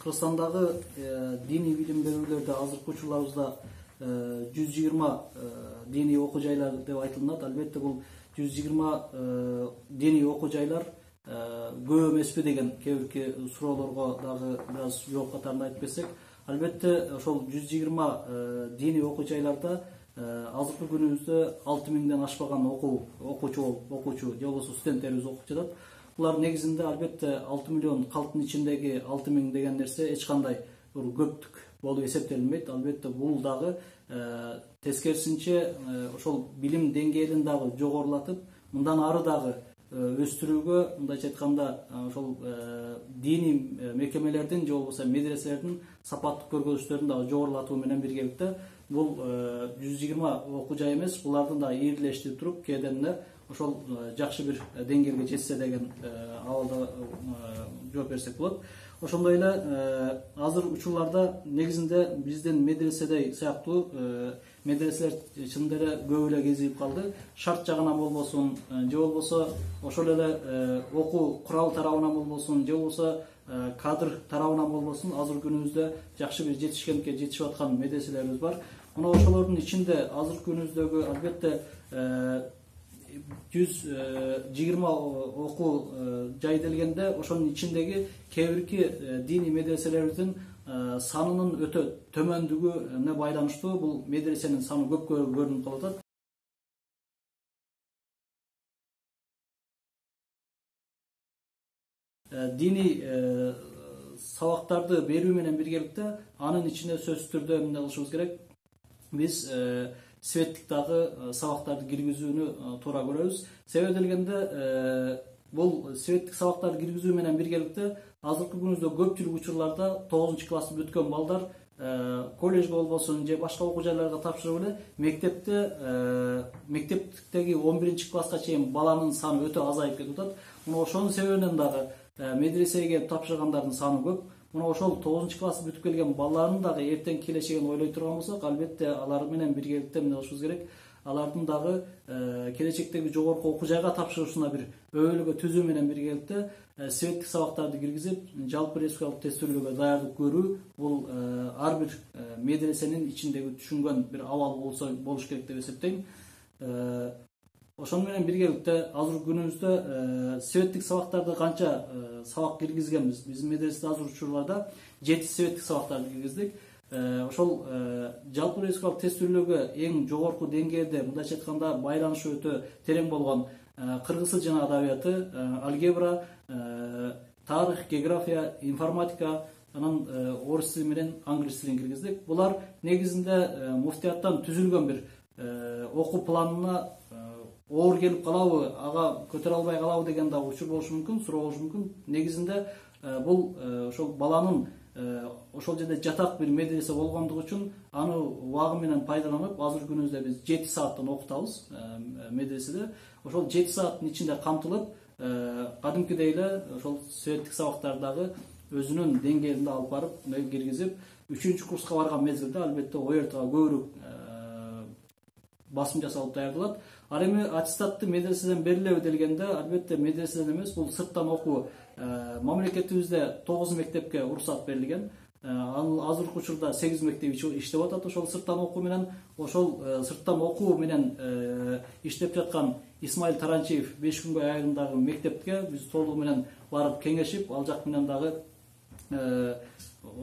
Кыргызстандагы диний билим берүүлөрдө азыркы учурларыбызда 120 диний окуу жайлар деп айтылат. Албетте бул 120 диний окуу жайлар көп эмеспи деген кээ бир суроолорго дагы бир аз жооп катарында айтып кетсек, албетте ошол 120 диний окуу жайларда азыркы күнүбүздө 6000ден ашпаган окуучу же болбосо студенттерибиз окуп жатат. Булар негизинде албетте 6 миллион калктын ичиндеги 6000 деген нерсе эч кандай көптүк болуп эсептелинбейт. Албетте бул дагы тескерисинче ошол билим деңгээлин дагы жогорулатып, мындан ары дагы өстүрүүгө, мындайча айтканда, ошол диний мекемелердин же болбосо медреселердин сапаттык көргөзүштөрүн дагы жогорулатуу менен биргеликте бул 120 окуу жай эмес, булардын да ийгилештирип туруп, кээден эле ошол жакшы бир деңгээлге жетсе деген абалда жооп берсек болот. Ошондой эле азыр учурларда негизинде биздин медреседей сыяктуу медреселер чындап эле көп эле кезигип калды. Шарт жагынан болбосун, же болбосо ошол эле окуу курал тарабынан болбосун, же болбосо кадр тарабынан болбосун, азыркы күнүбүздө жакшы бир жетишкендикке жетишип аткан медреселерибиз бар. Мына ошолордун ичинде азыркы күнүбүздөгү албетте 120 окуу жай делгенде, ошонун ичиндеги кээ бирки диний медреселерибиздин санынын өтө төмөндүгүнө байланыштуу бул медресенин саны көп көрүнүп калып атат. Диний сабактарды берүү менен биргеликте анын ичине сөзсүз түрдө эмне кылышыбыз керек? Биз светтик дагы сабактарды киргизүүнү туура көрөбүз. Себеби делгенде бул светтик сабактарды киргизүү менен биргеликте азыркы күнүбүздө көпчүлүк учурларда 9 классты бүткөн балдар колледжге болбосун же башка окуу жайларга тапшырып эле мектептеги 11 класска чейин баланын саны өтө азайып кетип атат. Мына ошонун себебинен дагы медресеге тапшыргандардын саны көп. Мына ошол 9 класс бүтүп келген балдардын дагы эртең келечегин ойлой турган болсок, албетте алар менен биргеликте эмне кылышыбыз керек? Алардын дагы келечектеги жогорку окуу жайга тапшырышына бир өбөлгө түзүү менен биргеликте светтик сабактарды киргизип, жалпы республикалык тестөөлгө даярдык көрүү бул ар бир медресенин ичиндеги түшүнгөн бир абал болуш керек деп эсептейм. Ошону менен биргеликте азыркы күнүбүздө светтик сабактарды канча сабак киргизгенбиз? Биздин медреседе азыркы учурларда 7 светтик сабактарды киргиздик. Ошол жалпы республикалык тестөөлгө эң жогорку деңгээлде, мындайча айтканда, байланышы өтө терең болгон кыргыз тили жана адабияты, алгебра, тарых, география, информатика, анан орус тили менен англис тилин киргиздик. Булар негизинде муфтияттан түзүлгөн бир окуу планына оор келип калабы, ага көтөрө албай калабы деген да учур болушу мүмкүн, суроо болушу мүмкүн. Негизинде бул ошол баланын ошол жерде жатак бир медресе болгондугу үчүн аны убагы менен пайдаланып, азыркы күнүбүздө биз 7 сааттан окутабыз медреседе. Ошол 7 сааттын ичинде камтылып, кадимкидей эле ошол светтик сабактардагы өзүнүн деңгээлинде алып барып киргизип, 3 курска барган мезгилде албетте ОРТга көбүрөөк басым жасалып даярдалат. Ал эми аттестатты медреседен берилеби делгенде, албетте медреседен эмес, бул сырттан окуу. Мамлекетибизде 9 мектепке уруксат берилген. Азыркы учурда 8 мектеп иштеп атат ошол сырттан окуу менен. Ошол сырттан окуу менен иштеп жаткан Исмаил Таранчиев 5 күнгө айрымдагы мектепке биз толугу менен барып кеңешип, ал жак менен дагы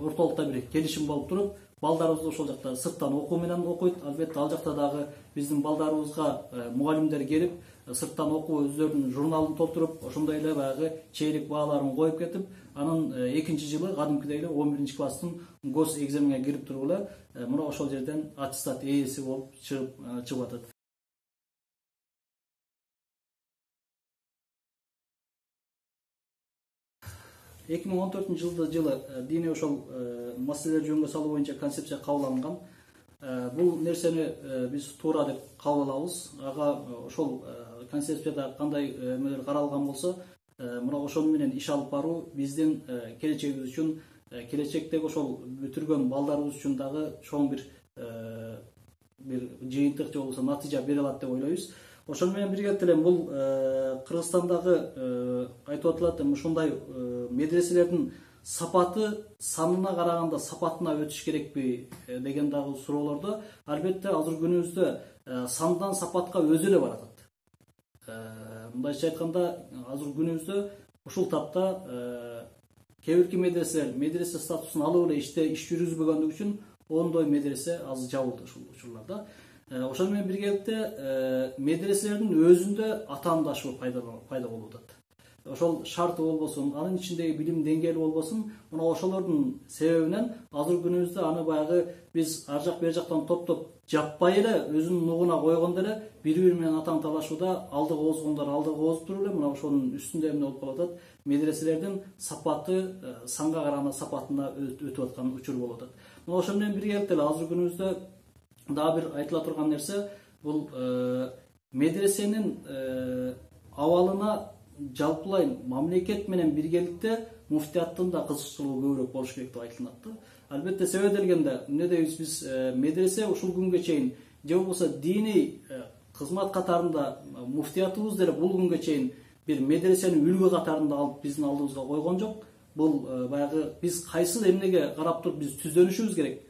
ортолукта бир келишим болуп туруп, балдарыбыз ошол жакта сырттан окуу менен окуйт. Албетте ал жакта дагы биздин балдарыбызга мугалимдер келип, сырттан окуу өздөрүнүн журналын толтуруп, ошондой эле баягы чейлик бааларын коюп кетип, анын экинчи жылы кадимкидей эле 11 класстын гос экзаменине кирип туруп эле мына ошол жерден аттестат ээси болуп чыгып атат. Эки миң 14 жылы диний ошол маселелер жөнгө салуу боюнча концепция кабыл алынган. Бул нерсени биз туура деп кабыл алабыз. Ага ошол концепцияда кандай эмелер каралган болсо, мына ошону менен иш алып баруу биздин келечегибиз үчүн, келечектеги ошол бүтүргөн балдарыбыз үчүн дагы чоң бир жыйынтык же болбосо натыйжа бере алат деп ойлойбуз. Ошону менен биргеликте эле бул Кыргызстандагы айтып атылат, ушундай медреселердин сапаты санына караганда сапатына өтүш керекпи деген дагы суроолордо албетте азыр күнүбүздө сандан сапатка өзү эле баратат. Мындайча айтканда азыр күнүбүздө ушул тапта кээ бирки медресе статусун алып эле иш жүргүзбөгөндүгү үчүн ондой медресе аз жабылды ушул учурларда. Ошол менен биргеликте медреселердин өзүндө атаандашуу пайда болуп атат. Ошол шарты болбосун, анын ичиндеги билим деңгээли болбосун, мына ошолордун себебинен азыр күнүбүздө аны баягы биз ар жак бер жактан топтоп жаппай эле өзүнүн нугуна койгондо эле бири менен атаң талашууда алдыга озгондор алдыга озуп туруп эле мына ошонун үстүндө эмне болуп калып атат, медреселердин сапаты санга караганда сапатына өтүп аткан учур болуп атат. Мына ошол менен биргеликте эле азыр күнүбүздө дагы бир айтыла турган нерсе бул медресенин абалына жалпылай мамлекет менен биргеликте муфтияттын да кызыкчылыгы көбүрөөк болуш керек деп айтылат да. Албетте себеп делгенде эмне дейбиз биз медресе ушул күнгө чейин же болбосо диний кызмат катарында муфтиятыбыз деле бул күнгө чейин бир медресени үлгү катарында алып биздин алдыбызга койгон жок. Бул баягы биз кайсы эмнеге карап туруп биз түздөнүшүбүз керек.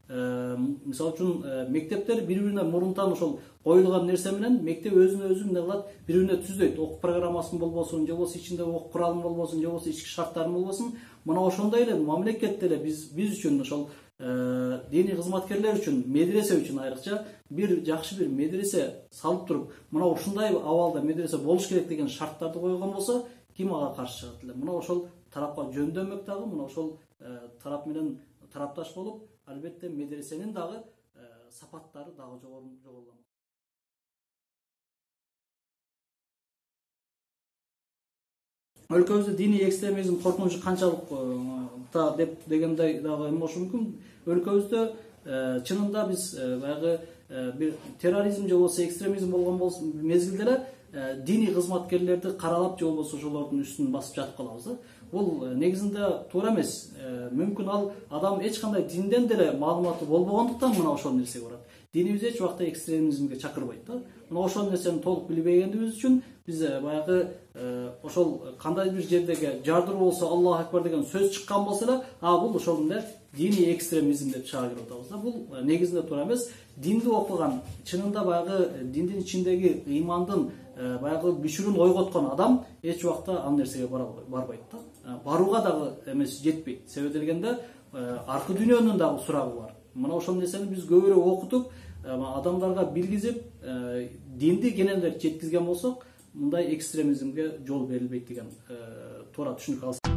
Мисалы үчүн мектептер бири-биринен мурунтан ошол коюлган нерсе менен мектеп өзүнө өзү эмне кылат, бири-бирине түздөйт. Окуу программасын болбосун, же болбосо ичинде окуу куралын болбосун, же болбосо ички шарттарын болбосун, мына ошондой эле мамлекет деле биз үчүн ошол диний кызматкерлер үчүн, медресе үчүн айрыкча бир жакшы бир медресе салып туруп, мына ушундай абалда медресе болуш керек деген шарттарды койгон болсо, ким ага каршы чыгат эле? Мына ошол тарапка жөндөмөк дагы, мына ошол тарап менен тарапташ болуп, албетте медресенин дагы сапаттары дагы жогорулган. Өлкөбүздө диний экстремизм коркунучу канчалык дегендей дагы эме болушу мүмкүн. Өлкөбүздө чынында биз баягы бир терроризм же болбосо экстремизм болгон мезгилде эле диний кызматкерлерди каралап же болбосо ошолордун үстүн басып жатып калабыз да. Бул негизинде туура эмес. Мүмкүн ал адам эч кандай динден деле маалыматы болбогондуктан мына ошол нерсеге барат. Динибиз эч убакта экстремизмге чакырбайт да. Мына ошол нерсени толук билбегендигибиз үчүн биз баягы ошол кандай бир жердеги жардыруу болсо Аллаху акбар деген сөз чыккан болсо эле, бул ошол эле диний экстремизм деп чыга кирип атабыз да. Бул негизинде туура эмес. Динди окуган, чынында баягы диндин ичиндеги ыймандын баягы бүчүрүн ойготкон адам эч убакта ал нерсеге барбайт да. Барууга дагы эмеси жетпейт. Себеп дегенде аркы дүйнөнүн дагы сурагы бар. Мына ошол нерсени биз көбүрөөк окутуп, адамдарга билгизип, динди кененирээк жеткизген болсок, мындай экстремизмге жол берилбейт деген туура түшүнүк алсак.